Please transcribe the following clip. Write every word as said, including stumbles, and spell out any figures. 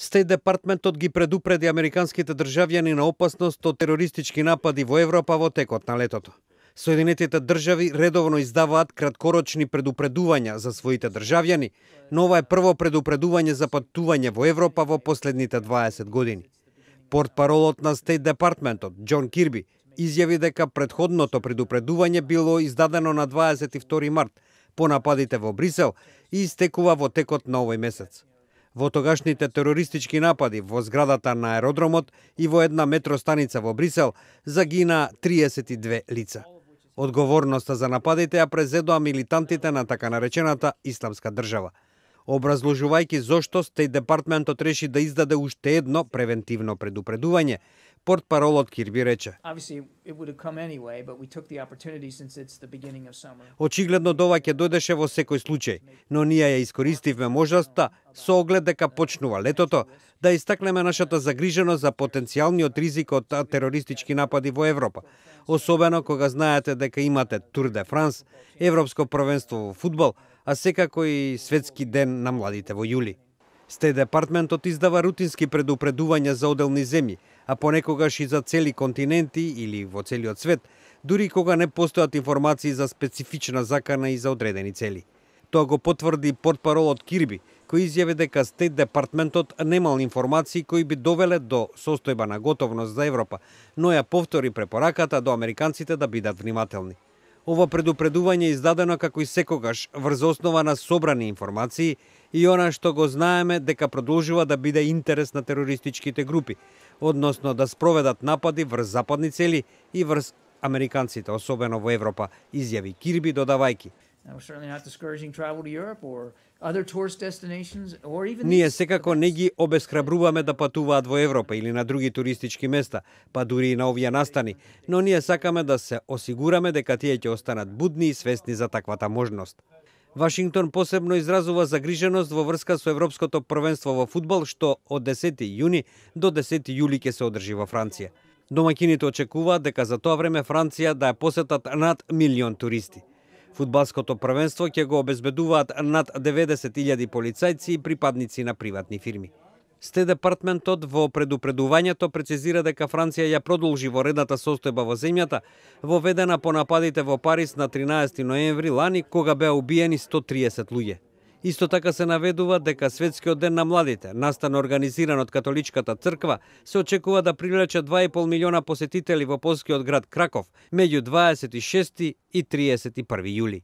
Стејт департментот ги предупреди американските државјани на опасност од терористички напади во Европа во текот на летото. Соединетите држави редовно издаваат краткорочни предупредувања за своите државјани, но ова е прво предупредување за патување во Европа во последните дваесет години. Портпаролот на Стејт департментот, Џон Кирби, изјави дека претходното предупредување било издадено на дваесет и втори март по нападите во Брисел и истекува во текот на овој месец. Во тогашните терористички напади во зградата на аеродромот и во една метростаница во Брисел загина триесет и две лица. Одговорноста за нападите ја презедоа милитантите на така наречената Исламска држава. Образложувајќи зошто Стејт департментот реши да издаде уште едно превентивно предупредување, портпаролот Кирби рече: очигледно ова ќе дојдеше во секој случај, но ние ја искористивме можноста со оглед дека почнува летото да истакнеме нашата загриженост за потенцијалниот ризик од терористички напади во Европа, особено кога знаете дека имате Тур де Франс, Европско првенство во фудбал, а секако и Светски ден на младите во јули. Стејт департментот издава рутински предупредувања за одделни земји, а понекогаш и за цели континенти или во целиот свет, дури кога не постојат информации за специфична закана и за одредени цели. Тоа го потврди портпаролот Кирби, кој изјави дека Стејт департментот немал информации кои би довеле до состојба на готовност за Европа, но ја повтори препораката до американците да бидат внимателни. Ова предупредување е издадено како и секогаш врз основа на собрани информации и она што го знаеме дека продолжува да биде интерес на терористичките групи, односно да спроведат напади врз западни цели и врз американците, особено во Европа, изјави Кирби додавајќи: ние секако не ги обесхрабруваме да патуваат во Европа или на други туристички места, па дури и на овие настани, но ние сакаме да се осигураме дека тие ќе останат будни и свесни за таквата можност. Вашингтон посебно изразува загриженост во врска со Европското првенство во фудбал, што од десети јуни до десети јули ќе се одржи во Франција. Домаќините очекуваат дека за тоа време Франција да ја посетат над милион туристи. Фудбалското првенство ќе го обезбедуваат над деветдесет илјади полицајци и припадници на приватни фирми. Стејт департментот во предупредувањето прецизира дека Франција ја продолжи во редната состојба во земјата, воведена по нападите во Париз на тринаесети ноември лани, кога беа убиени сто триесет луѓе. Исто така се наведува дека Светскиот ден на младите, настан организиран од Католичката црква, се очекува да привлече два и пол милиона посетители во полскиот град Краков меѓу дваесет и шести и триесет и први јули.